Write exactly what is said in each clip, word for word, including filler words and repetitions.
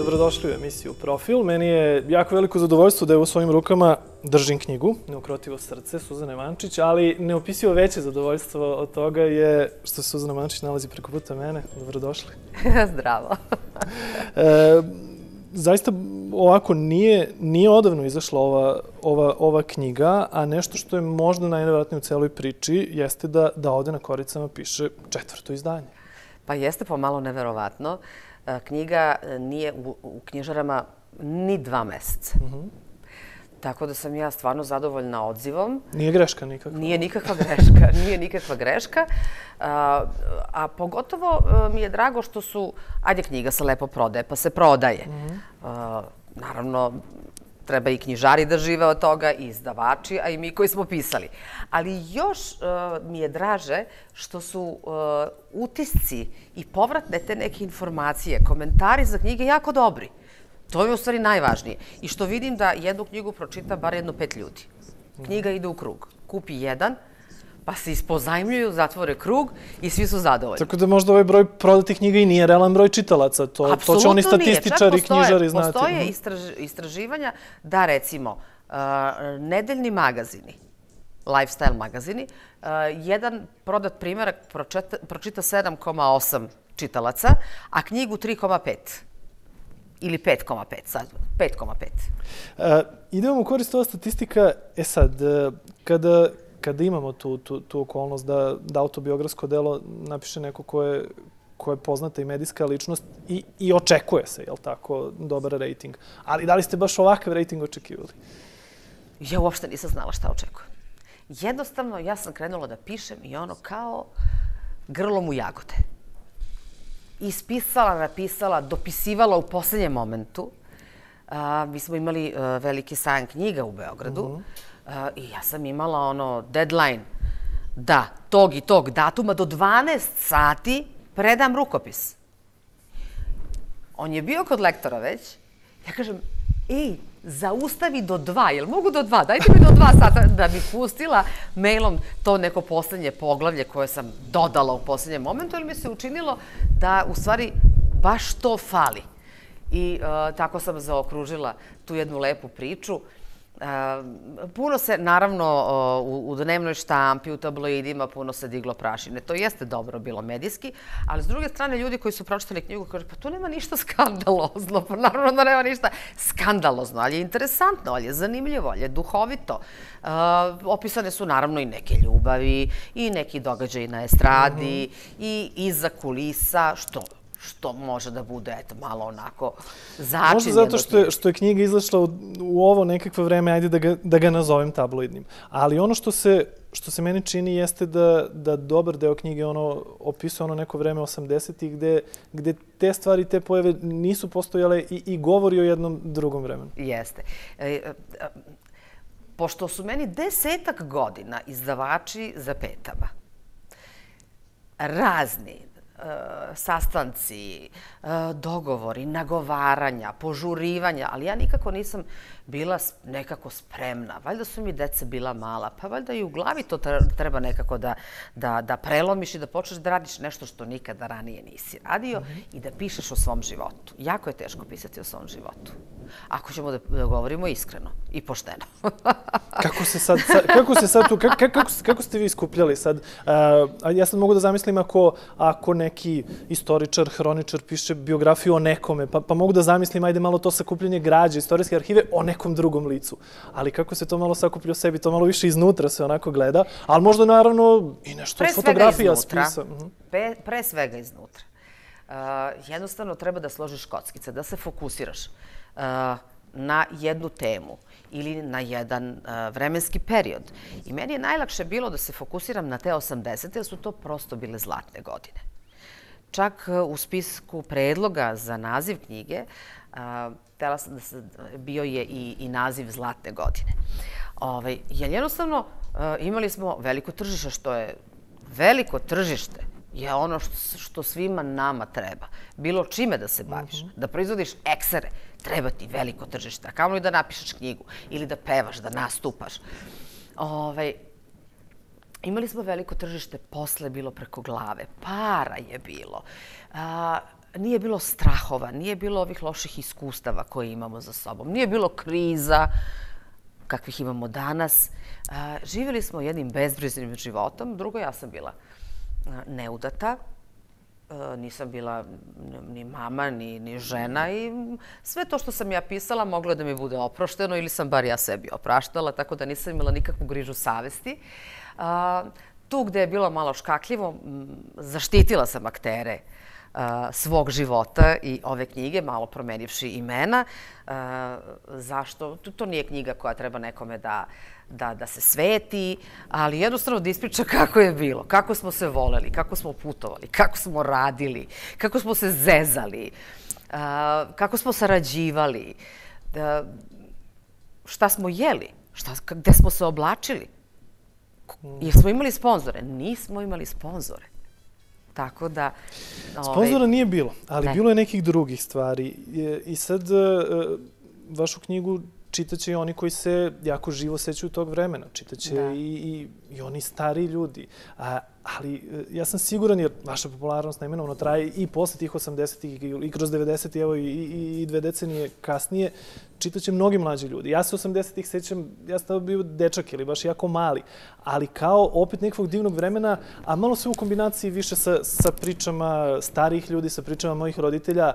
dobrodošli u emisiju Profil. Meni je jako veliko zadovoljstvo da je u svojim rukama držim knjigu Neukrotivo srce Suzane Mančić, ali neopisivo veće zadovoljstvo od toga je što se Suzana Mančić nalazi preko puta mene. Dobrodošli. Zdravo. e, zaista ovako nije, nije odavno izašla ova, ova, ova knjiga, a nešto što je možda najnevjerojatnije u celoj priči jeste da, da ovde na koricama piše četvrto izdanje. Pa jeste pomalo neverovatno. Knjiga nije u, u knjižarama ni dva meseca. Mm-hmm. Tako da sam ja stvarno zadovoljna odzivom. Nije greška nikakva. Nije nikakva greška. Nije nikakva greška. A, a pogotovo mi je drago što su, ajde, knjiga se lepo prodaje, pa se prodaje. Mm-hmm. a, naravno, treba i knjižari da žive od toga, i izdavači, a i mi koji smo pisali. Ali još uh, mi je draže što su uh, utisci i povratne te neke informacije, komentari za knjige jako dobri. To je u stvari najvažnije. I što vidim da jednu knjigu pročita bar jedno pet ljudi. Knjiga ide u krug. Kupi jedan, pa se ispozajmljuju, zatvore krug i svi su zadovoljni. Tako da možda ovaj broj prodatih knjiga i nije realan broj čitalaca. To, to će oni statističari i knjižari znati. Postoje istraž, istraživanja da, recimo, uh, nedeljni magazini, lifestyle magazini, uh, jedan prodat primjerak pročita, pročita sedam zarez osam čitalaca, a knjigu tri zarez pet. Ili pet zarez pet, sad, pet zarez pet. Uh, ide vam u korist ova statistika. E sad, uh, kada... kada imamo tu, tu, tu okolnost da, da autobiografsko delo napiše neko ko je, ko je poznata i medijska ličnost i, i očekuje se, jel tako, dobar rating. Ali da li ste baš ovakav rating očekivali? Ja uopšte nisam znala šta očekujem. Jednostavno, ja sam krenula da pišem i ono kao grlom u jagode. Ispisala, napisala, dopisivala u poslednjem momentu. A, mi smo imali a, veliki sajam knjiga u Beogradu. Mm-hmm. Uh, I ja sam imala ono deadline da tog i tog datuma do dvanaest sati predam rukopis. On je bio kod lektora već. Ja kažem, ej, zaustavi do dva, jel mogu do dva? Dajte mi do dva sata da bi pustila mailom to neko poslednje poglavlje koje sam dodala u poslednjem momentu, jer mi se učinilo da u stvari baš to fali. I uh, tako sam zaokružila tu jednu lepu priču. Uh, puno se, naravno, uh, u, u dnevnoj štampi, u tabloidima, puno se diglo prašine. To jeste dobro bilo medijski, ali s druge strane ljudi koji su pročitali knjigu kažu, pa tu nema ništa skandalozno, pa naravno da nema ništa skandalozno, ali je interesantno, ali je zanimljivo, ali je duhovito. Uh, opisane su naravno i neke ljubavi, i neki događaji na estradi, mm-hmm. i iza kulisa, što što može da bude, eto, malo onako začinjeno. Možda zato što je, što je knjiga izašla u, u ovo nekakvo vreme, ajde da ga, da ga nazovem tabloidnim. Ali ono što se, što se meni čini jeste da, da dobar deo knjige ono, opisuje ono neko vreme osamdesetih gde, gde te stvari, te pojave nisu postojale i, i govori o jednom drugom vremenu. Jeste. E, e, pošto su meni desetak godina izdavači za petama, razni, sastanci, dogovori, nagovaranja, požurivanja, ali ja nikako nisam bila nekako spremna. Valjda su mi deca bila mala, pa valjda i u glavi to treba nekako da, da, da prelomiš i da počneš da radiš nešto što nikada ranije nisi radio mm-hmm. i da pišeš o svom životu. Jako je teško pisati o svom životu. Ako ćemo da, da govorimo iskreno i pošteno. Kako se sad, kako se sad tu, kako, kako, kako ste vi iskupljali sad? Uh, ja sad mogu da zamislim ako, ako neki istoričar, hroničar piše biografiju o nekome, pa, pa mogu da zamislim, ajde malo to sakupljanje građe, istorijske arhive o nekom drugom licu. Ali kako se to malo sakuplja o sebi, to malo više iznutra se onako gleda, ali možda naravno i nešto od fotografija spisa. Pre, pre svega iznutra. Uh, jednostavno treba da složiš kockice, da se fokusiraš uh, na jednu temu ili na jedan uh, vremenski period. I meni je najlakše bilo da se fokusiram na te osamdesete, jer su to prosto bile zlatne godine. Čak uh, u spisku predloga za naziv knjige uh, htela sam da se, bio je i, i naziv Zlatne godine. Ovaj, jer jednostavno uh, imali smo veliko tržište, što je veliko tržište je ono što, što svima nama treba. Bilo čime da se baviš, uh-huh. da proizvodiš eksere, treba ti veliko tržište. A kamo li da napišeš knjigu ili da pevaš, da nastupaš. Ovaj, imali smo veliko tržište, posle bilo preko glave, para je bilo. A, nije bilo strahova, nije bilo ovih loših iskustava koje imamo za sobom, nije bilo kriza kakvih imamo danas. Živjeli smo jednim bezbriznim životom. Drugo, ja sam bila neudata. Nisam bila ni mama, ni, ni žena i sve to što sam ja pisala moglo je da mi bude oprošteno ili sam bar ja sebi opraštala, tako da nisam imala nikakvu grižu savesti. Tu gde je bilo malo škakljivo, zaštitila sam aktere svog života i ove knjige, malo promenivši imena. Zašto? To nije knjiga koja treba nekome da, da, da se sveti, ali jednostavno da ispriča kako je bilo, kako smo se voleli, kako smo putovali, kako smo radili, kako smo se zezali, kako smo sarađivali, šta smo jeli, šta, gde smo se oblačili. Jer smo imali sponzore? Nismo imali sponzore. Tako da... Sponzora nije bilo, ali bilo je nekih drugih stvari. I sad vašu knjigu čitaće i oni koji se jako živo sećaju tog vremena. Čitaće i, i oni stariji ljudi. A, ali ja sam siguran, jer vaša popularnost neminovno traje i posle tih osamdesetih i kroz devedesetih, evo i, i, i dve decenije kasnije, čitaće mnogi mlađi ljudi. Ja se osamdesetih sećam, ja sam tada bio dečak ili baš jako mali, ali kao opet nekog divnog vremena, a malo sve u kombinaciji više sa, sa pričama starijih ljudi, sa pričama mojih roditelja,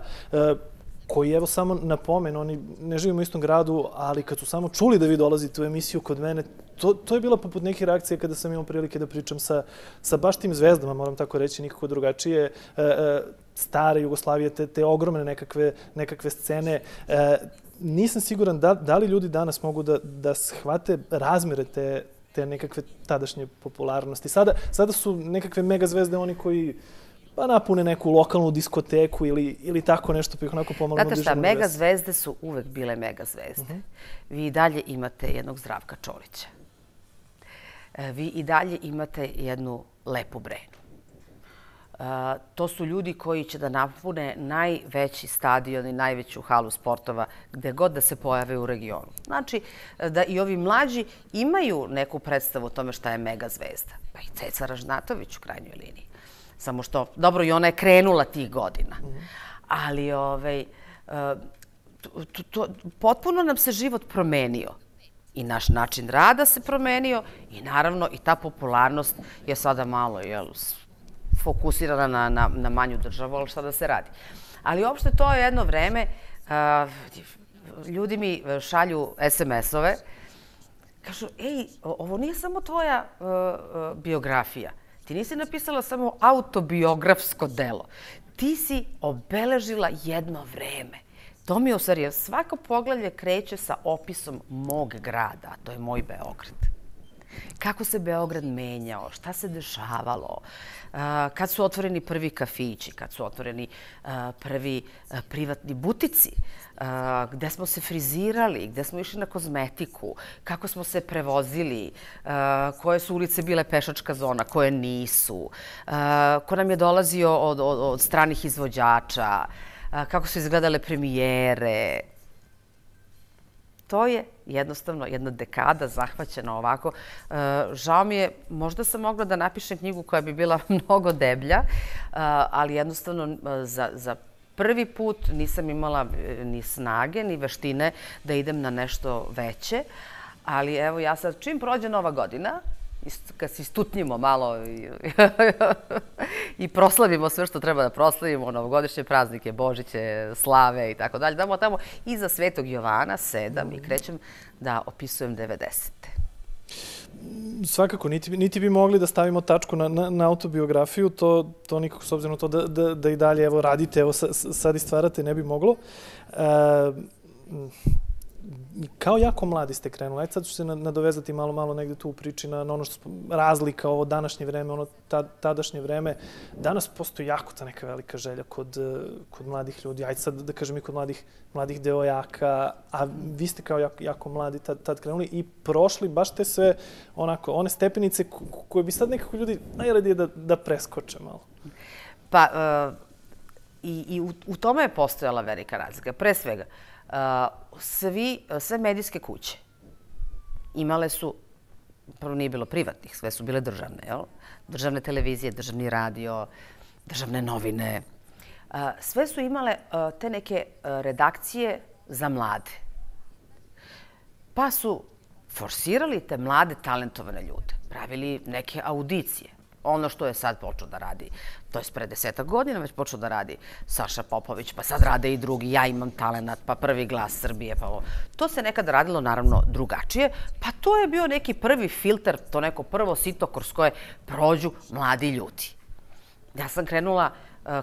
koji, evo, samo napomen, oni ne živimo u istom gradu, ali kad su samo čuli da vi dolazite u emisiju kod mene, to, to je bila poput neke reakcije kada sam imao prilike da pričam sa, sa baš tim zvezdama, moram tako reći, nikako drugačije, e, e, stare Jugoslavije, te, te ogromne nekakve, nekakve scene. E, nisam siguran da, da li ljudi danas mogu da, da shvate razmere te, te nekakve tadašnje popularnosti. Sada, sada su nekakve mega zvezde oni koji pa napune neku lokalnu diskoteku ili, ili tako nešto, pa ih onako pomalo Znate šta, mega zvezde su uvek bile mega zvezde. Uh-huh. Vi i dalje imate jednog Zdravka Čolića. Vi i dalje imate jednu Lepu Brenu. Uh, to su ljudi koji će da napune najveći stadion i najveću halu sportova gde god da se pojave u regionu. Znači da i ovi mlađi imaju neku predstavu o tome šta je mega zvezda. Pa i Ceca Ražnatović u krajnjoj liniji. Samo što, dobro, i ona je krenula tih godina. Ali ovaj, to, to, potpuno nam se život promenio. I naš način rada se promenio i naravno i ta popularnost je sada malo jel, fokusirana na, na, na manju državu, ali šta da se radi. Ali uopšte to je jedno vreme, ljudi mi šalju es em es-ove, kažu, ej, ovo nije samo tvoja biografija. Ti nisi napisala samo autobiografsko delo. Ti si obeležila jedno vreme. To mi je u stvari, svako poglavlje kreće sa opisom mog grada, a to je moj Beograd. Kako se Beograd menjao, šta se dešavalo, kad su otvoreni prvi kafići, kad su otvoreni prvi privatni butici, gde smo se frizirali, gde smo išli na kozmetiku, kako smo se prevozili, koje su ulice bile pešačka zona, koje nisu, ko nam je dolazio od, od, od stranih izvođača, kako su izgledale premijere. To je jednostavno jedna dekada zahvaćena ovako. Žao mi je, možda sam mogla da napišem knjigu koja bi bila mnogo deblja, ali jednostavno za, za prvi put nisam imala ni snage, ni veštine da idem na nešto veće. Ali evo ja sad, čim prođe Nova godina, kad se istutnjimo malo i, i proslavimo sve što treba da proslavimo, novogodišnje praznike, Božiće, slave i tako dalje, damo tamo iza Svetog Jovana sedam i krećem da opisujem devedesete. Svakako, niti, niti bi mogli da stavimo tačku na, na, na autobiografiju, to, to nikako s obzirom na to da, da, da i dalje evo, radite, evo sad i stvarate, ne bi moglo. E, Kao jako mladi ste krenuli. Ajde sad ću se nadovezati malo, malo negde tu u priči na ono što razlika ovo današnje vreme, ono tadašnje vreme. Danas postoji jako ta neka velika želja kod, kod mladih ljudi. Ajde sad da kažem i kod mladih, mladih devojaka. A vi ste kao jako, jako mladi tad, tad krenuli i prošli baš te sve onako, one stepenice koje bi sad nekako ljudi najradije da, da preskoče malo. Pa, uh, i, i u, u tome je postojala velika razlika. Pre svega, Uh, svi, sve medijske kuće imale su, prvo nije bilo privatnih, sve su bile državne, jel? Državne televizije, državni radio, državne novine. sve su imale te neke redakcije za mlade. Pa su forsirali te mlade, talentovane ljude. Pravili neke audicije. Ono što je sad počeo da radi, to je pre desetak godina već počeo da radi Saša Popović, pa sad rade i drugi, ja imam talenat, pa Prvi glas Srbije, pa ovo. To se nekada radilo naravno drugačije, pa to je bio neki prvi filter, to neko prvo sito kroz koje prođu mladi ljudi. Ja sam krenula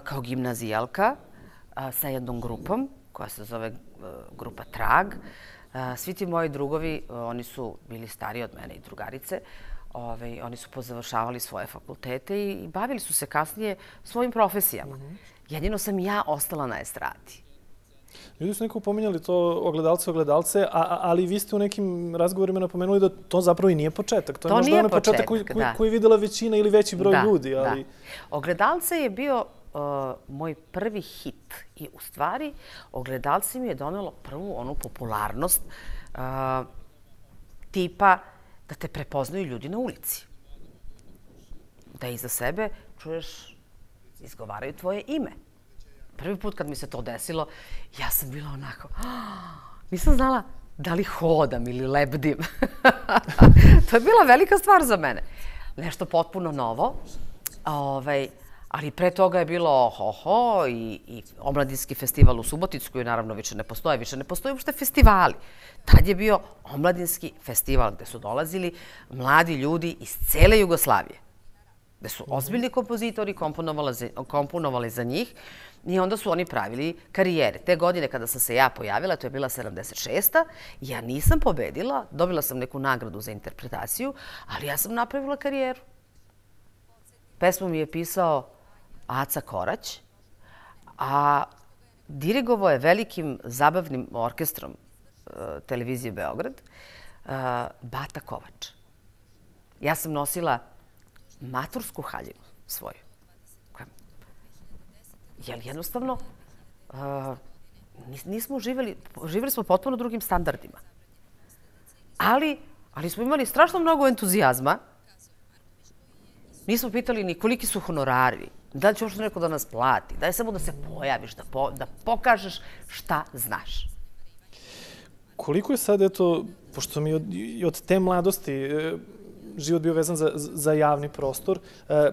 kao gimnazijalka sa jednom grupom koja se zove grupa Trag. Svi ti moji drugovi, oni su bili stariji od mene i drugarice, Ove, oni su pozavršavali svoje fakultete i, i bavili su se kasnije svojim profesijama. Mm-hmm. Jedino sam ja ostala na estradi. Ljudi su nekako pominjali to ogledalce, ogledalce, a, a, ali vi ste u nekim razgovorima napomenuli da to zapravo i nije početak. To, to je možda nije onaj početak koji, koji, koji je videla većina ili veći broj da, ljudi. Ali... Da. Ogledalce je bio uh, moj prvi hit i u stvari Ogledalce mi je donelo prvu onu popularnost uh, tipa da te prepoznaju ljudi na ulici. Da iza sebe čuješ, izgovaraju tvoje ime. Prvi put kad mi se to desilo, ja sam bila onako, nisam znala da li hodam ili lebdim. To je bila velika stvar za mene. Nešto potpuno novo. Ovaj, ali pre toga je bilo ho-ho i, i omladinski festival u Subotici, koji naravno više ne postoje. Više ne postoje uopšte festivali. Tad je bio omladinski festival gde su dolazili mladi ljudi iz cele Jugoslavije. Gde su ozbiljni kompozitori komponovali za, komponovali za njih i onda su oni pravili karijere. Te godine kada sam se ja pojavila, to je bila sedamdeset šesta. Ja nisam pobedila, dobila sam neku nagradu za interpretaciju, ali ja sam napravila karijeru. Pesmu mi je pisao Aca Korać, a dirigovao je velikim zabavnim orkestrom televizije Beograd, Bata Kovač. Ja sam nosila matursku haljinu svoju. Jer jednostavno nismo živjeli, živjeli smo potpuno drugim standardima. Ali, ali smo imali strašno mnogo entuzijazma. Nismo pitali ni koliki su honorari, da li će uopšte neko da nas plati, daj samo da se pojaviš, da, po, da pokažeš šta znaš. Koliko je sad, eto, pošto mi od, i od te mladosti e, život bio vezan za, za javni prostor, e,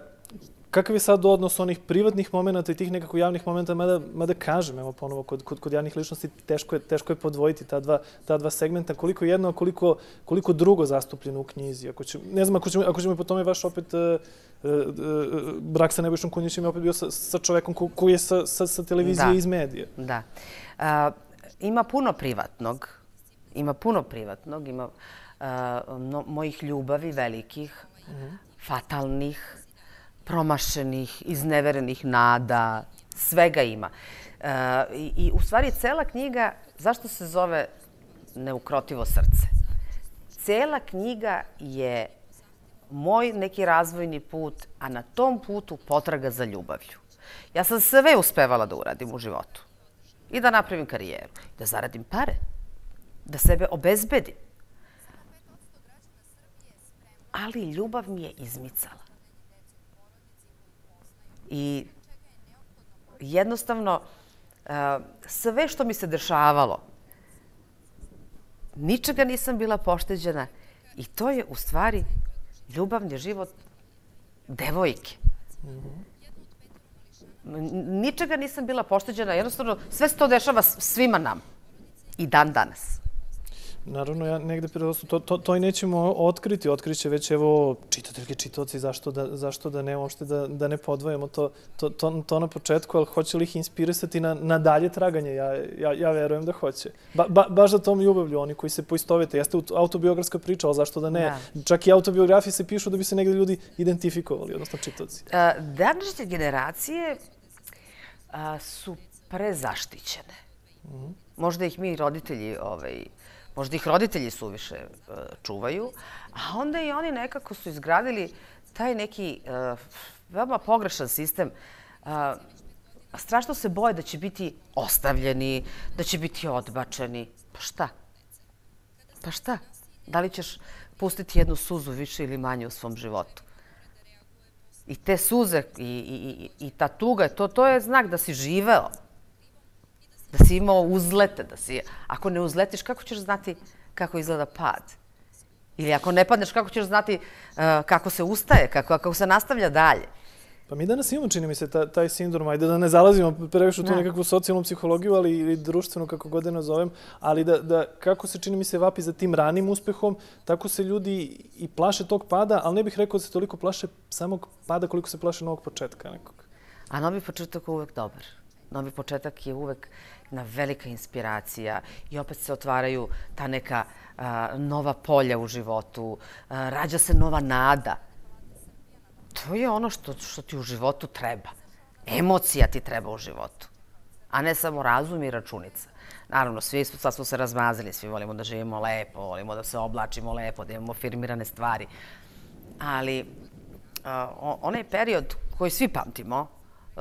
kakav je sad odnos onih privatnih momenta i tih nekako javnih momenta, mada, mada kažem, evo ponovo, kod, kod, kod javnih ličnosti teško je, teško je podvojiti ta dva, ta dva segmenta, koliko jedno, koliko, koliko drugo zastupljeno u knjizi. Ako će, ne znam, ako ćemo, ako ćemo i po tome vaš opet e, e, brak sa Nebojšom Kunjićem je opet bio sa, sa čovekom ko, koji je sa, sa, sa televizije da. iz medije. Da. A, ima puno privatnog, ima puno privatnog, ima a, no, mojih ljubavi velikih, mm-hmm. fatalnih, promašenih, izneverenih nada, svega ima. E, i, I u stvari cela knjiga, zašto se zove Neukrotivo srce? Cela knjiga je moj neki razvojni put, a na tom putu potraga za ljubavlju. Ja sam sve uspevala da uradim u životu. I da napravim karijeru, da zaradim pare, da sebe obezbedim. Ali ljubav mi je izmicala. I jednostavno, sve što mi se dešavalo, ničega nisam bila pošteđena i to je u stvari ljubavni život devojke. Ničega nisam bila pošteđena, jednostavno sve se to dešava svima nam i dan danas. Naravno, ja negde to, to, to i nećemo otkriti. Otkriće već evo čitateljke, čitaoci, zašto da, zašto da ne, uopšte da, da ne podvojimo to, to, to, to na početku, ali hoće li ih inspirisati na, na dalje traganje? Ja, ja, ja verujem da hoće. Ba, ba, baš za tom ljubavlju, oni koji se poistovete. Jeste autobiografska priča, ali zašto da ne? Da. Čak i autobiografije se pišu da bi se negde ljudi identifikovali, odnosno čitaoci. Današnje generacije a, su prezaštićene. Mm-hmm. Možda ih mi roditelji ovaj, Možda ih roditelji suviše uh, čuvaju, a onda i oni nekako su izgradili taj neki uh, veoma pogrešan sistem. Uh, strašno se boje da će biti ostavljeni, da će biti odbačeni. Pa šta? Pa šta? Da li ćeš pustiti jednu suzu više ili manje u svom životu? I te suze i, i, i ta tuga, to, to je znak da si živeo. Da si imao uzlete, da si... Ako ne uzletiš, kako ćeš znati kako izgleda pad? Ili ako ne padneš, kako ćeš znati uh, kako se ustaje, kako, kako se nastavlja dalje? Pa mi danas imamo, čini mi se, ta, taj sindrom, ajde da ne zalazimo previše u tu nekakvu socijalnu psihologiju, ali i društvenu, kako god da nazovem, ali da, da kako se, čini mi se, vapi za tim ranim uspehom, tako se ljudi i plaše tog pada, ali ne bih rekao da se toliko plaše samog pada koliko se plaše novog početka nekog. A novi početak je uvek dobar. Novi početak je uvek jedna velika inspiracija i opet se otvaraju ta neka a, nova polja u životu, a, rađa se nova nada. To je ono što, što ti u životu treba. Emocija ti treba u životu, a ne samo razum i računica. Naravno, svi sad smo se razmazili, svi volimo da živimo lepo, volimo da se oblačimo lepo, da imamo firmirane stvari. Ali a, onaj period koji svi pamtimo,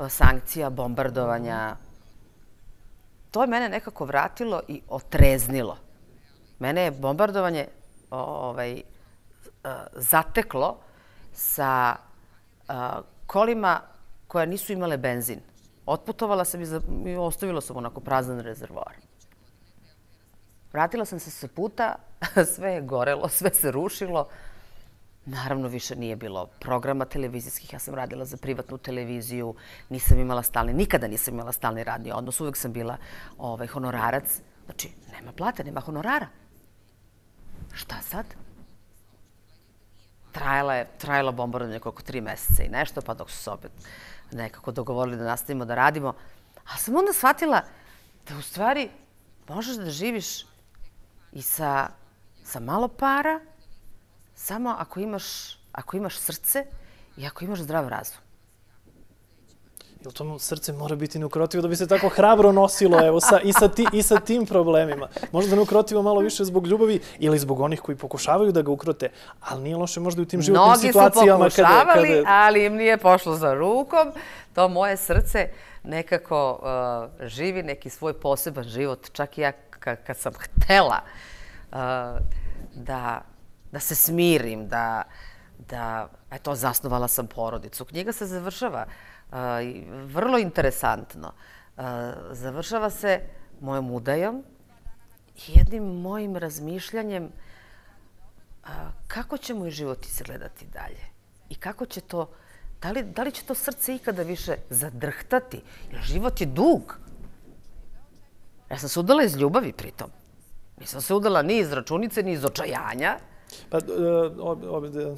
sankcija, bombardovanja, to je mene nekako vratilo i otreznilo. Mene je bombardovanje ovaj, zateklo sa kolima koja nisu imale benzin. Otputovala sam i ostavila sam onako prazan rezervoar. Vratila sam se sa puta, sve je gorelo, sve se rušilo. Naravno, više nije bilo programa televizijskih. Ja sam radila za privatnu televiziju, nisam imala stalni, nikada nisam imala stalni radni odnos. Uvek sam bila ovaj, honorarac. Znači, nema plate, nema honorara. Šta sad? Trajala je, trajala bombardovanje oko tri meseca i nešto, pa dok su se opet nekako dogovorili da nastavimo da radimo. A sam onda shvatila da u stvari možeš da živiš i sa, sa malo para, samo ako imaš, ako imaš srce i ako imaš zdrav razum. Jel to srce mora biti neukrotivo da bi se tako hrabro nosilo evo, sa, i, sa ti, i sa tim problemima? Možda neukrotivo malo više zbog ljubavi ili zbog onih koji pokušavaju da ga ukrote, ali nije loše možda i u tim životnim Mnogi situacijama. Mnogi su pokušavali, kada, kada... ali im nije pošlo za rukom. To moje srce nekako uh, živi neki svoj poseban život. Čak i ja kad sam htela uh, da... da se smirim, da, da, eto, zasnovala sam porodicu. Knjiga se završava uh, vrlo interesantno. Uh, završava se mojom udajom i jednim mojim razmišljanjem uh, kako će moj život izgledati dalje i kako će to, da li, da li će to srce ikada više zadrhtati, jer život je dug. Ja sam se udala iz ljubavi pritom. Nisam se udala ni iz računice, ni iz očajanja. Pa,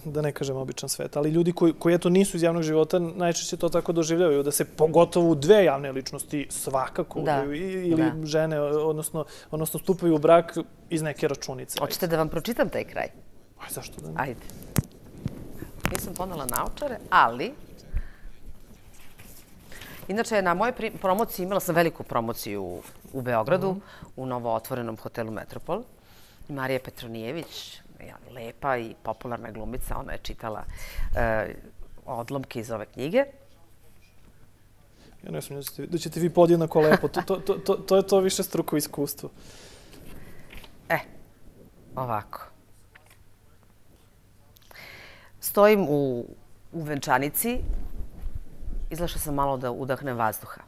da ne kažem običan svet, ali ljudi koji, koji eto nisu iz javnog života najčešće to tako doživljavaju, da se pogotovo u dve javne ličnosti svakako da, ili da. žene, odnosno, odnosno stupaju u brak iz neke računice. Hoćete da vam pročitam taj kraj? Aj, zašto da ne? Ajde. Nisam ponela naočare, ali... Inače, na moje promociji, imala sam veliku promociju u Beogradu, mm-hmm. u novo otvorenom hotelu Metropol. Marija Petronijević, lepa i popularna glumica, ona je čitala uh, odlomke iz ove knjige. Ja ne smijem da, da ćete vi podjednako lepo. To, to, to, to, to je to više struko iskustvo. E, ovako. Stojim u, u venčanici. Izlašla sam malo da udahnem vazduha.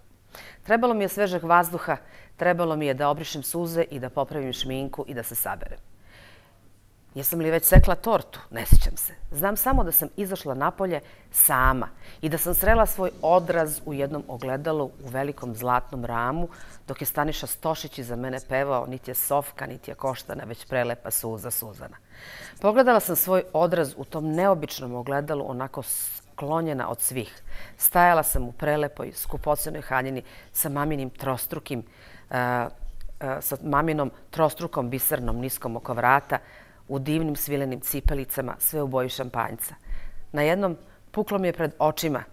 Trebalo mi je svežeg vazduha, trebalo mi je da obrišem suze i da popravim šminku i da se saberem. Jesam li već sekla tortu? Ne sjećam se. Znam samo da sam izašla napolje sama i da sam srela svoj odraz u jednom ogledalu u velikom zlatnom ramu, dok je Staniša Stošić iza mene pevao niti je Sofka, niti je Koštana, već prelepa suza Suzana. Pogledala sam svoj odraz u tom neobičnom ogledalu, onako sklonjena od svih. Stajala sam u prelepoj, skupocenoj haljini sa maminim trostrukim, uh, uh, sa maminom trostrukom bisernom niskom oko vrata, u divnim svilenim cipelicama, sve u boji šampanjca. Na jednom puklo mi je pred očima.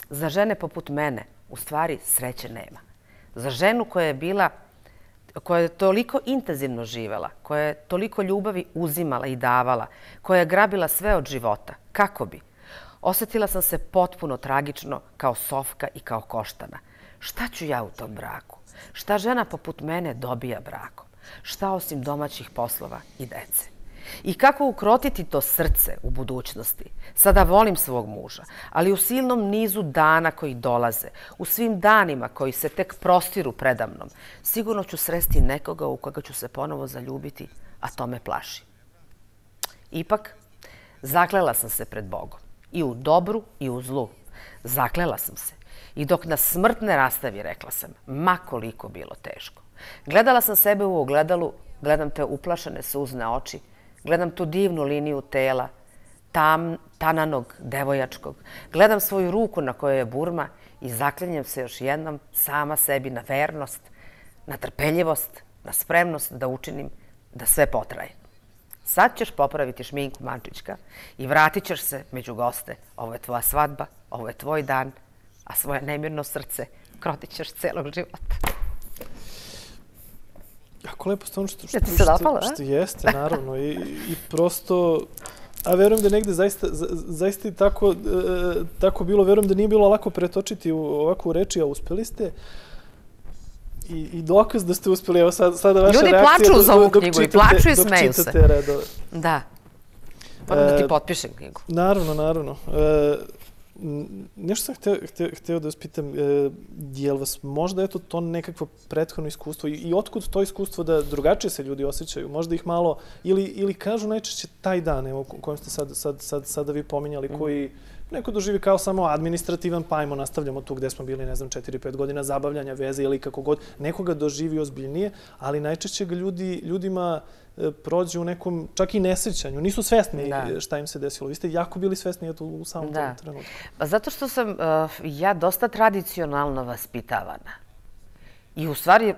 Za žene poput mene, u stvari, sreće nema. Za ženu koja je bila, koja je toliko intenzivno živela, koja je toliko ljubavi uzimala i davala, koja je grabila sve od života, kako bi? Osjetila sam se potpuno tragično kao Sofka i kao Koštana. Šta ću ja u tom braku? Šta žena poput mene dobija brakom? Šta osim domaćih poslova i dece? I kako ukrotiti to srce u budućnosti? Sada volim svog muža, ali u silnom nizu dana koji dolaze, u svim danima koji se tek prostiru predamnom, sigurno ću sresti nekoga u koga ću se ponovo zaljubiti, a to me plaši. Ipak, zaklela sam se pred Bogom. I u dobru i u zlu. Zaklela sam se. I dok nas smrt ne rastavi, rekla sam, ma koliko bilo teško. Gledala sam sebe u ogledalu, gledam te uplašene suzne oči, gledam tu divnu liniju tela, tam, tananog, devojačkog. Gledam svoju ruku na kojoj je burma i zaklinjem se još jednom sama sebi na vernost, na trpeljivost, na spremnost da učinim da sve potraje. Sad ćeš popraviti šminku, Mančićka, i vratit ćeš se među goste. Ovo je tvoja svadba, ovo je tvoj dan, a svoje nemirno srce krotit ćeš celog života. Jako lepo stvarno što, što, Ja ti se dopalo, što, što jeste, naravno. I, i prosto, a verujem da negde zaista, zaista i tako, tako bilo, verujem da nije bilo lako pretočiti u ovakvu reči, a uspeli ste. I, i dokaz da ste uspeli, evo sad, sada vaša Ljudi reakcija. Ljudi plaču za ovu dok knjigu čitate, i plaču i smeju se. Redove. Da. Moram da ti potpišem knjigu. Naravno, naravno. E, nešto sam hteo, hteo, hteo da vas pitam, e, je li vas možda eto to nekakvo prethodno iskustvo i, i otkud to iskustvo da drugačije se ljudi osjećaju? Možda ih malo, ili, ili kažu najčešće taj dan, evo, kojem ste sad, sad, sad, sada vi pominjali, koji neko doživi kao samo administrativan, pa ajmo, nastavljamo tu gde smo bili, ne znam, četiri pet godina zabavljanja, veze ili kako god. Nekoga doživi ozbiljnije, ali najčešće ga ljudi, ljudima prođe u nekom, čak i nesrećanju. Nisu svesni da. Šta im se desilo. Vi ste jako bili svesni eto, u samom da. Tom trenutku. Pa zato što sam uh, ja dosta tradicionalno vaspitavana. I u stvari,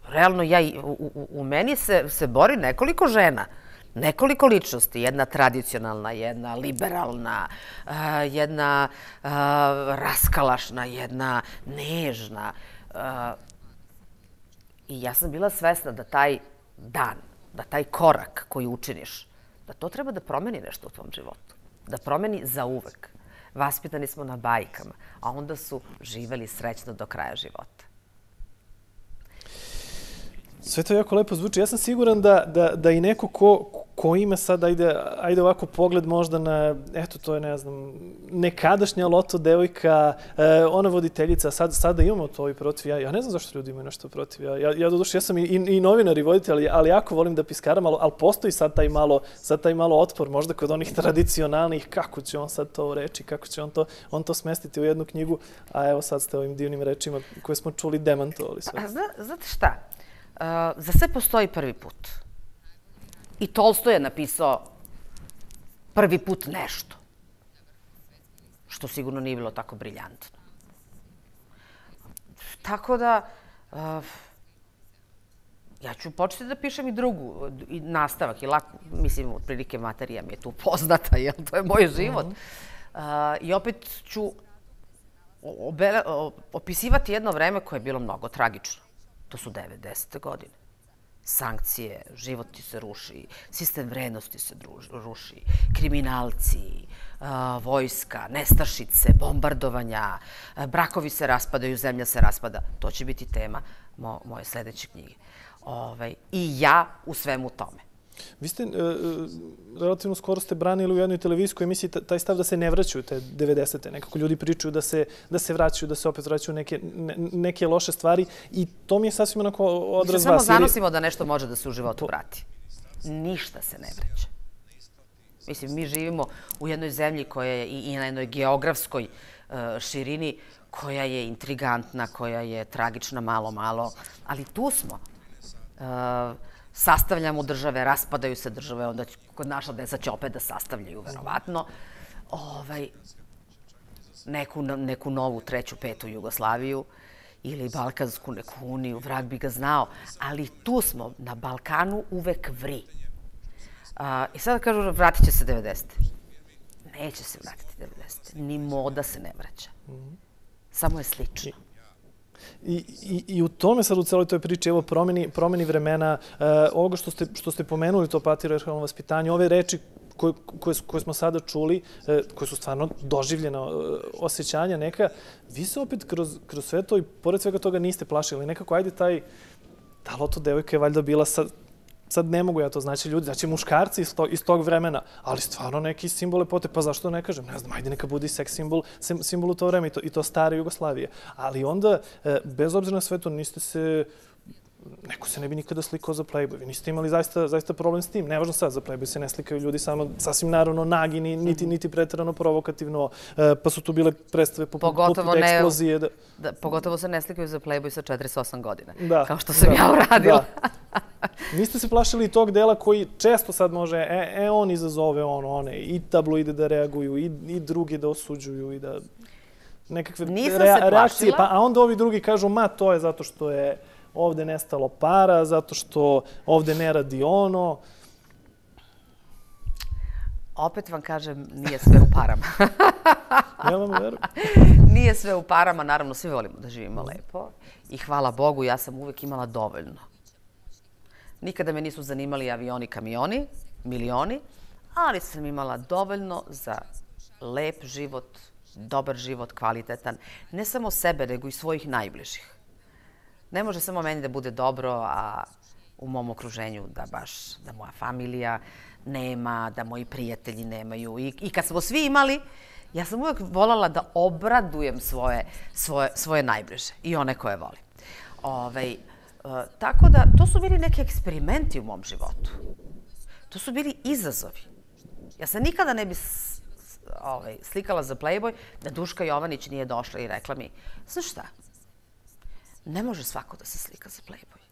realno, ja, u, u, u meni se, se bori nekoliko žena. Nekoliko ličnosti. Jedna tradicionalna, jedna liberalna, uh, jedna uh, raskalašna, jedna nežna. Uh, I ja sam bila svesna da taj dan, da taj korak koji učiniš, da to treba da promeni nešto u tvom životu. Da promeni zauvek. Vaspitani smo na bajkama, a onda su živeli srećno do kraja života. Sve to jako lepo zvuči. Ja sam siguran da, da, da i neko ko, ko ima sad, ajde, ajde ovako pogled možda na, eto to je, ne znam, nekadašnja loto devojka, eh, ona voditeljica, sad, sada imamo to i protiv. Ja, ja ne znam zašto ljudi imaju nešto protiv. Ja, ja, ja doduše, ja sam i, i, i novinar i voditelj, ali, ali jako volim da piskaram, ali, ali postoji sad taj, malo, sad taj malo otpor, možda kod onih tradicionalnih, kako će on sad to reći, kako će on to, on to smestiti u jednu knjigu, a evo sad ste ovim divnim rečima koje smo čuli demantovali sve. A zna, znate šta? Uh, za sve postoji prvi put. I Tolstoj je napisao prvi put nešto. Što sigurno nije bilo tako briljantno. Tako da, uh, ja ću početi da pišem i drugu, i nastavak. I lako, mislim, otprilike materija mi je tu poznata, jer to je moj život. Uh, I opet ću obele, opisivati jedno vreme koje je bilo mnogo tragično. To su devedesete godine. Sankcije, život ti se ruši, sistem vrednosti se ruši, kriminalci, vojska, nestašice, bombardovanja, brakovi se raspadaju, zemlja se raspada. To će biti tema moje sledeće knjige. I ja u svemu tome. Vi ste, relativno skoro ste branili u jednoj televizijskoj emisiji taj stav da se ne vraćaju te devedesete. Nekako ljudi pričaju da se, da se vraćaju, da se opet vraćaju neke, neke loše stvari i to mi je sasvim onako odraz vas. Mi se samo zanosimo da nešto može da se u životu vrati. Ništa se ne vraća. Mislim, mi živimo u jednoj zemlji koja je i na jednoj geografskoj širini koja je intrigantna, koja je tragična malo, malo, ali tu smo. Sastavljamo države, raspadaju se države, onda kod naša deca će opet da sastavljaju, verovatno, ovaj, neku, neku novu, treću, petu Jugoslaviju ili Balkansku neku uniju, vrag bi ga znao, ali tu smo, na Balkanu uvek vri. A, I sada kažu, vratit će se devedesete. Neće se vratiti devedesete. Ni moda se ne vraća. Samo je slično. I, i, I u tome sad u celoj toj priči, evo, promeni, promeni vremena, uh, ovoga što ste, što ste pomenuli, to patrijarhalno vaspitanje, ove reči koje, koje, koje smo sada čuli, uh, koje su stvarno doživljena uh, osjećanja neka, vi se opet kroz, kroz sve to i pored svega toga niste plašili. Nekako, ajde, taj, ta loto devojka je valjda bila sad sad ne mogu ja to, znači ljudi, znači muškarci iz, to, iz tog vremena, ali stvarno neki simbol lepote, pa zašto ne kažem, ne znam, ajde neka bude seks simbol, simbol u to vreme i to, i to stare Jugoslavije. Ali onda, bez obzira na sve to, niste se, neko se ne bi nikada slikao za Playboy. Vi niste imali zaista, zaista problem s tim. Nevažno sad, za Playboy se ne slikaju ljudi samo sasvim naravno nagi, niti, niti preterano provokativno, pa su tu bile predstave poput, poput eksplozije. Da... Da, pogotovo se ne slikaju za Playboy sa četrdeset osam godina, da, kao što sam da, ja uradila. Da. Niste se plašili tog dela koji često sad može, e, e on izazove ono, one, i tabloide da reaguju, i, i drugi da osuđuju, i da nekakve rea, reakcije. Pa, a onda ovi drugi kažu, ma to je zato što je ovde nestalo para, zato što ovde ne radi ono. Opet vam kažem, nije sve u parama. Ja vam verujem. Nije sve u parama, naravno, svi volimo da živimo lepo. I hvala Bogu, ja sam uvek imala dovoljno. Nikada me nisu zanimali avioni, kamioni, milioni, ali sam imala dovoljno za lep život, dobar život, kvalitetan. Ne samo sebe, nego i svojih najbližih. Ne može samo meni da bude dobro, a u mom okruženju da baš, da moja familija nema, da moji prijatelji nemaju. I, i kad smo svi imali, ja sam uvek voljela da obradujem svoje, svoje, svoje najbliže i one koje volim. Ovaj, e, tako da, to su bili neki eksperimenti u mom životu. To su bili izazovi. Ja se nikada ne bi s, ovaj, slikala za Playboy da Duška Jovanić nije došla i rekla mi, znaš šta, ne može svako da se slika za Playboy.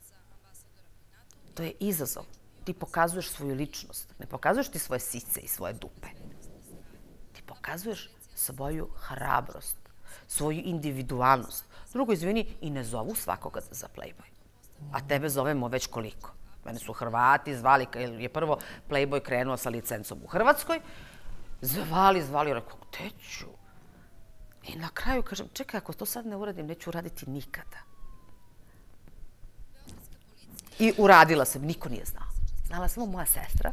To je izazov. Ti pokazuješ svoju ličnost. Ne pokazuješ ti svoje sice i svoje dupe. Ti pokazuješ svoju hrabrost, svoju individualnost. Drugo, izvini, i ne zovu svakoga za Playboy. A tebe zovemo već koliko. Mene su Hrvati zvali, jer je prvo Playboy krenuo sa licencom u Hrvatskoj. Zvali, zvali, rekao, gde ću? I na kraju kažem, čekaj, ako to sad ne uradim, neću uraditi nikada. I uradila sam, niko nije znao. Znala samo moja sestra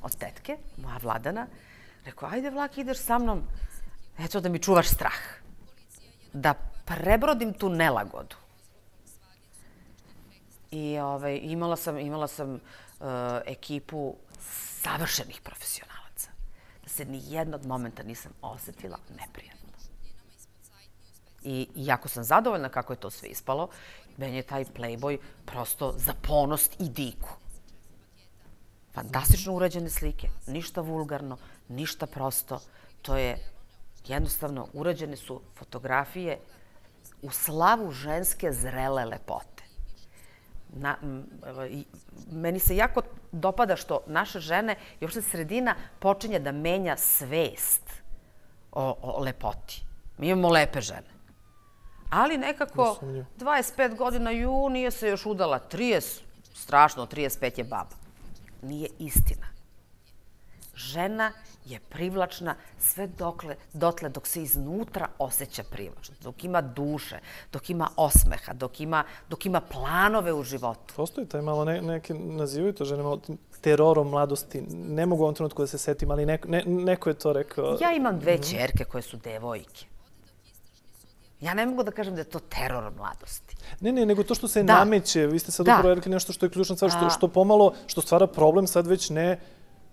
od tetke, moja Vladana. Rekao, ajde Vlaki, ideš sa mnom, eto da mi čuvaš strah. Da prebrodim tu nelagodu. I ovaj, imala sam, imala sam uh, ekipu savršenih profesionalaca. Da se ni jednog momenta nisam osetila neprijatno. I jako sam zadovoljna kako je to sve ispalo. Meni je taj Playboy prosto za ponos i diku. Fantastično urađene slike, ništa vulgarno, ništa prosto. To je jednostavno, urađene su fotografije u slavu ženske zrele lepote. Na, m, i, meni se jako dopada što naše žene i uopšte sredina počinje da menja svest o, o lepoti. Mi imamo lepe žene. Ali nekako dvadeset pet godina, ju, nije se još udala. trideset, strašno, trideset pet je baba. Nije istina. Žena je privlačna sve dokle, dotle dok se iznutra osjeća privlačno. Dok ima duše, dok ima osmeha, dok ima, dok ima planove u životu. Postoji taj malo, ne, neki nazivaju to žene malo terorom mladosti. Ne mogu u ovom trenutku da se setim, ali neko, ne, neko je to rekao. Ja imam dve ćerke koje su devojke. Ja ne mogu da kažem da je to teror mladosti. Ne, ne, nego to što se da. nameće. Vi ste sad da. upravo rekli nešto što je ključno stvar, što, što pomalo, što stvara problem sad već ne,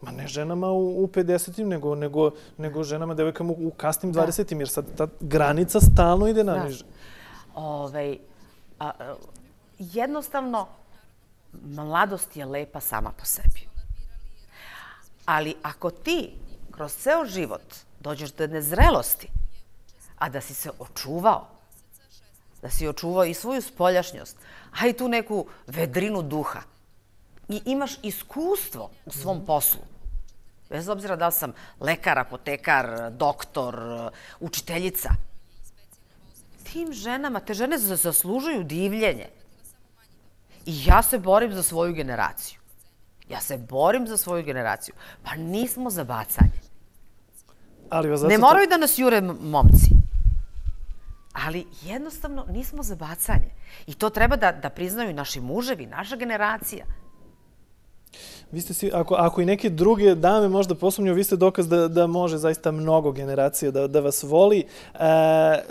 ma ne ženama u, u pedesetim, nego, nego, nego ženama, devojkama u, u kasnim dvadesetim, jer sad ta granica stalno ide naniže. Ovaj, a, a, jednostavno, mladost je lepa sama po sebi. Ali ako ti kroz ceo život dođeš do nezrelosti, a da si se očuvao, da si očuvao i svoju spoljašnjost, a i tu neku vedrinu duha. I imaš iskustvo u svom poslu. Bez obzira da li sam lekar, apotekar, doktor, učiteljica. Tim ženama, te žene zaslužuju divljenje. I ja se borim za svoju generaciju. Ja se borim za svoju generaciju. Pa nismo za bacanje. Ali vas ne moraju to... da nas jure momci. Ali jednostavno nismo za bacanje. I to treba da, da priznaju naši muževi, naša generacija. Vi ste si, ako, ako i neke druge dame možda posumnju, vi ste dokaz da, da može zaista mnogo generacija da, da vas voli. E, e,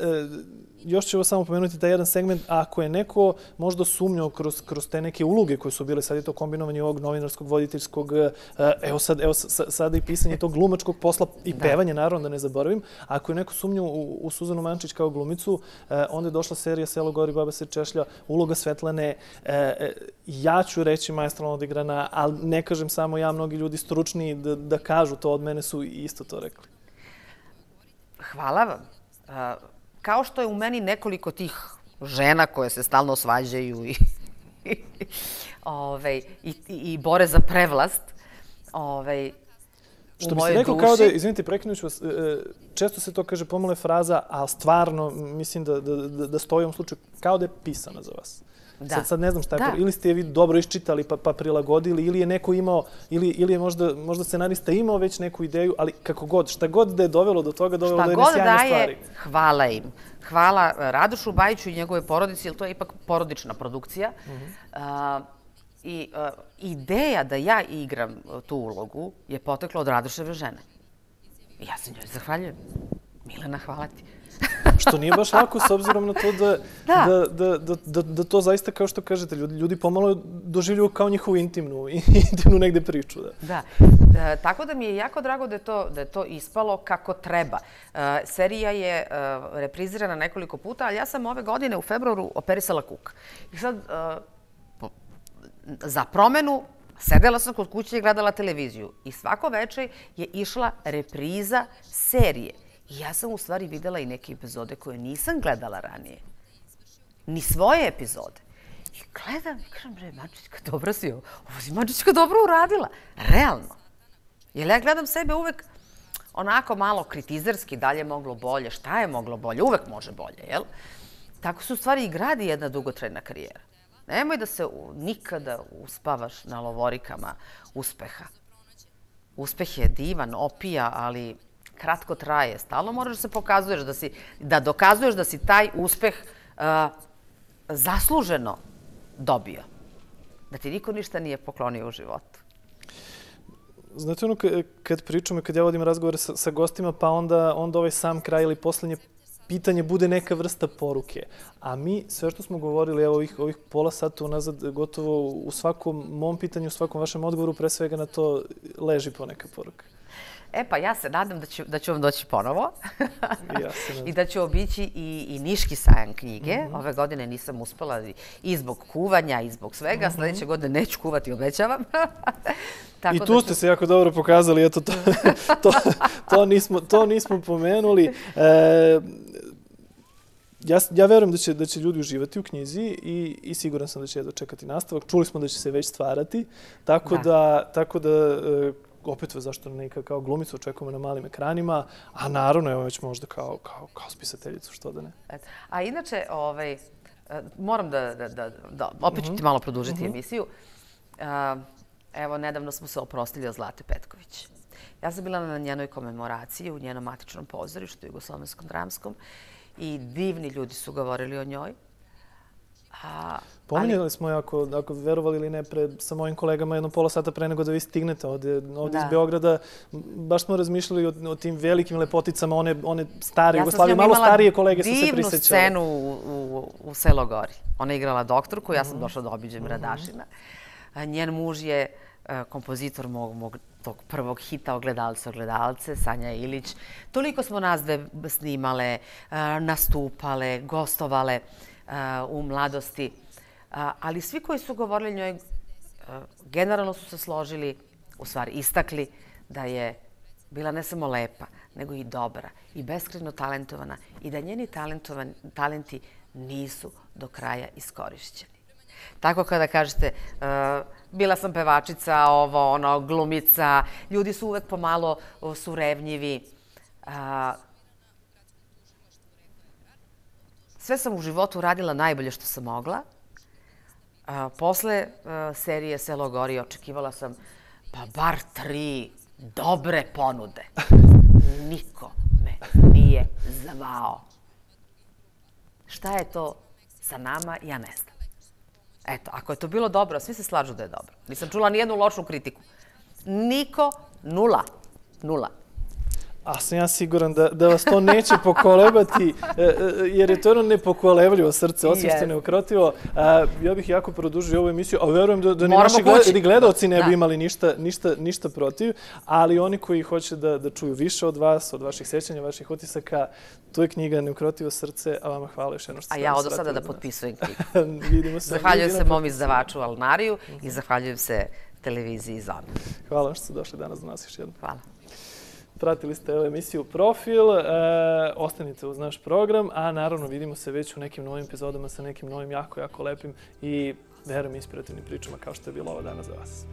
još ću samo pomenuti taj jedan segment, ako je neko možda sumnjao kroz, kroz te neke uloge koje su bile, sad je to kombinovanje ovog novinarskog, voditeljskog, evo sad, evo sada i pisanje tog glumačkog posla i pevanje, naravno da ne zaboravim. Ako je neko sumnjao u, u Suzanu Mančić kao glumicu, onda je došla serija Selo gori, baba se češlja, uloga Svetlane, ja ću reći maestralno odigrana, ali ne kažem samo ja, mnogi ljudi stručni da, da kažu to od mene su isto to rekli. Hvala vam. Kao što je u meni nekoliko tih žena koje se stalno svađaju i, ove, i, i bore za prevlast, ove, što bi se rekao kao da, izvinite, prekinuću vas, često se to kaže pomalo je fraza, ali stvarno mislim da, da, da stoji u ovom slučaju kao da je pisana za vas. Da. Sad, sad ne znam šta je, ili ste je vi dobro iščitali pa, pa prilagodili, ili je neko imao, ili, ili je možda, možda scenarista imao već neku ideju, ali kako god, šta god da je dovelo do toga, dovelo do jedne sjajne stvari. Šta god daje, hvala im. Hvala Radošu Bajiću i njegove porodici, jer to je ipak porodična produkcija. Uh-huh. uh, I uh, ideja da ja igram tu ulogu je potekla od Radoševe žene. I ja se njoj zahvaljujem. Milena, hvala ti. Što nije baš lako s obzirom na to da, da. Da, da, da, da to zaista, kao što kažete, ljudi, ljudi pomalo doživljuju kao njihovu intimnu, intimnu negde priču. Da. Da. E, tako da mi je jako drago da je to, da je to ispalo kako treba. E, serija je e, reprizirana nekoliko puta, ali ja sam ove godine u februaru operisala kuk. I sad, e, po, za promenu, sedela sam kod kuće i gledala televiziju. I svako večer je išla repriza serije. I ja sam u stvari videla i neke epizode koje nisam gledala ranije. Ni svoje epizode. I gledam i kažem, bre, Mančićka, dobro si ovo. Ovo si Mančićka dobro uradila. Realno. Jer ja gledam sebe uvek onako malo kritizerski, dalje moglo bolje. Šta je moglo bolje? Uvek može bolje, jel? Tako se u stvari i gradi jedna dugotrajna karijera. Nemoj da se nikada uspavaš na lovorikama uspeha. Uspeh je divan, opija, ali kratko traje. Stalno moraš da se pokazuješ, da, si, da dokazuješ da si taj uspeh uh, zasluženo dobio. Da ti niko ništa nije poklonio u životu. Znate ono, kad pričamo, kad ja vodim razgovore sa, sa gostima, pa onda, onda ovaj sam kraj ili poslednje pitanje bude neka vrsta poruke. A mi, sve što smo govorili, evo ovih, ovih pola sata unazad, gotovo u svakom mom pitanju, u svakom vašem odgovoru, pre svega na to leži poneka poruka. E pa ja se nadam da ću, da ću vam doći ponovo. Ja se nadam. I da ću obići i, i Niški sajam knjige. Mm-hmm. Ove godine nisam uspela i zbog kuvanja i zbog svega. Mm-hmm. Sljedeće godine neću kuvati, obećavam. Tako I tu da ću... ste se jako dobro pokazali. Eto, to, to, to, nismo, to nismo pomenuli. E, Ja, ja verujem da će, da će ljudi uživati u knjizi i, i siguran sam da će dočekati nastavak. Čuli smo da će se već stvarati. Tako da, da, tako da e, opet zašto neka kao glumicu očekujemo na malim ekranima, a naravno evo već možda kao, kao, kao spisateljicu, što da ne. A inače, ovaj, moram da, da, da, da opet ću ti malo produžiti uh-huh. emisiju. Evo, nedavno smo se oprostili od Zlate Petković. Ja sam bila na njenoj komemoraciji u njenom matičnom pozorištu, Jugoslovenskom dramskom, i divni ljudi su govorili o njoj. A, Pominjali ali... smo, ako, ako verovali ili ne, pre, sa mojim kolegama jedno pola sata pre nego da vi stignete ovde, ovde iz Beograda. Baš smo razmišljali o, o tim velikim lepoticama, one, one stare ja Jugoslavije, malo starije kolege su se prisjećali. prisjećali. Ja sam scenu u, u, u Selo gori. Ona je igrala doktorku, ja sam došla da obiđem mm-hmm. Radašina. Njen muž je kompozitor mog, mog tog prvog hita Ogledalce, Ogledalce, Sanja Ilić. Toliko smo nas dve snimale, nastupale, gostovale u mladosti. Ali svi koji su govorili njoj, generalno su se složili, u stvari istakli da je bila ne samo lepa, nego i dobra i beskrajno talentovana i da njeni talenti nisu do kraja iskorišćeni. Tako kada kažete, bila sam pevačica, ovo, ono, glumica, ljudi su uvek pomalo surevnjivi. Sve sam u životu radila najbolje što sam mogla. Posle serije Selo gori očekivala sam pa bar tri dobre ponude. Niko me nije zvao. Šta je to sa nama, ja ne znam. Eto, ako je to bilo dobro, svi se slažu da je dobro. Nisam čula nijednu lošu kritiku. Niko, nula. Nula. A sam ja siguran da, da vas to neće pokolebati, jer je to jedno nepokolevljivo srce, osim što je neukrotivo. Ja bih jako produžio ovu emisiju, a verujem da, da ni naši gled, gledalci ne bi imali ništa, ništa, ništa protiv, ali oni koji hoće da, da čuju više od vas, od vaših sećanja, vaših utisaka, tu je knjiga Neukrotivo srce, a vama hvala još jedno što ste. A ja od sada da potpisujem knjigu. Vidimo se. Zahvaljujem se mom izdavaču Alnariju i zahvaljujem se televiziji Zona. Hvala što ste došli danas do nas još jednom. Hvala. Pratili ste ovu emisiju Profil, e, ostanite uz naš program, a naravno vidimo se već u nekim novim epizodama sa nekim novim jako, jako lepim i verujem inspirativnim pričama kao što je bilo ovo danas za vas.